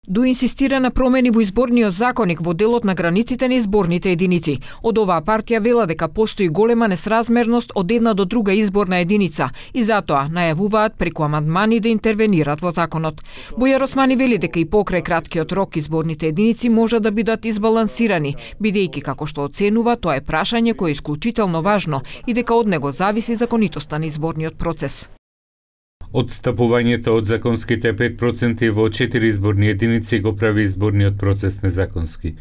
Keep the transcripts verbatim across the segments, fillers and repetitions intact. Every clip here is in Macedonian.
Ду инсистира на промени во изборниот законник во делот на границите на изборните единици. Од оваа партија вела дека постои голема несразмерност од една до друга изборна единица и затоа најавуваат преку амандмани да интервенират во законот. Бујар Османи вели дека и покрај краткиот рок изборните единици може да бидат избалансирани, бидејќи како што оценува тоа е прашање кое е исклучително важно и дека од него зависи законитоста на изборниот процес. Отстапувањето од законските пет проценти во четири изборни единици го прави изборниот процес незаконски.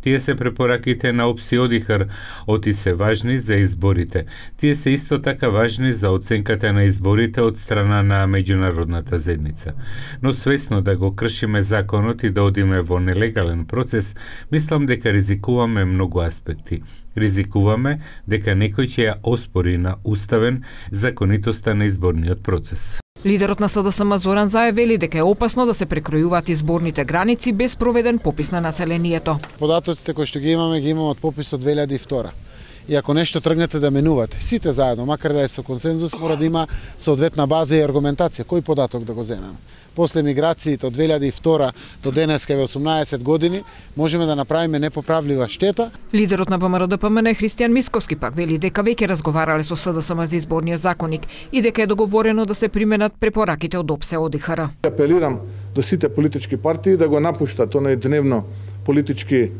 Тие се препораките на ОПС и ОДИХР, оти се важни за изборите. Тие се исто така важни за оценката на изборите од страна на меѓународната заедница. Но свесно да го кршиме законот и да одиме во нелегален процес, мислам дека ризикуваме многу аспекти. Ризикуваме дека некој ќе ја оспори на уставен законитоста на изборниот процес. Лидерот на СДСМ Зоран Заев вели дека е опасно да се прекројуваат изборните граници без проведен попис на населението. Податоците кои што ги имаме, ги имаме од пописот две илјади и втора. И ако нешто тргнете да менувате, сите заедно, макар да е со консензус, мора да има соодветна база и аргументација. Кој податок да го земеме? После миграциите од две илјади и втора до денеска ве осумнаесет години, можеме да направиме непоправлива штета. Лидерот на ВМРО-ДПМН Христијан Мисковски пак вели дека веќе разговарале со СДСМ за изборниот законник и дека е договорено да се применат препораките од ОПС ОДИХР. Апелирам до сите политички партии да го напуштат оној дневно политички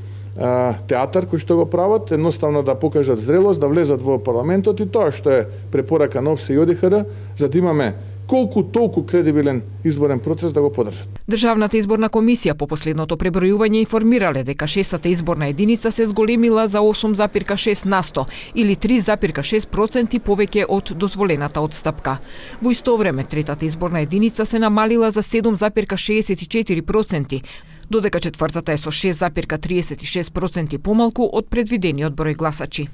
театар кој што го прават, едноставно да покажат зрелост, да влезат во парламентот и тоа што е препорака на ОПС и ОДИХР, за да имаме колку толку кредибилен изборен процес да го поддржат. Државната изборна комисија по последното пребројување информирале дека шестата изборна единица се зголемила за осум запирка шест на сто или три запирка шест проценти повеќе од дозволената отстапка. Во исто време третата изборна единица се намалила за седум запирка шеесет и четири проценти, додека четвртата е со шест запирка триесет и шест проценти помалку од предвидениот број гласачи.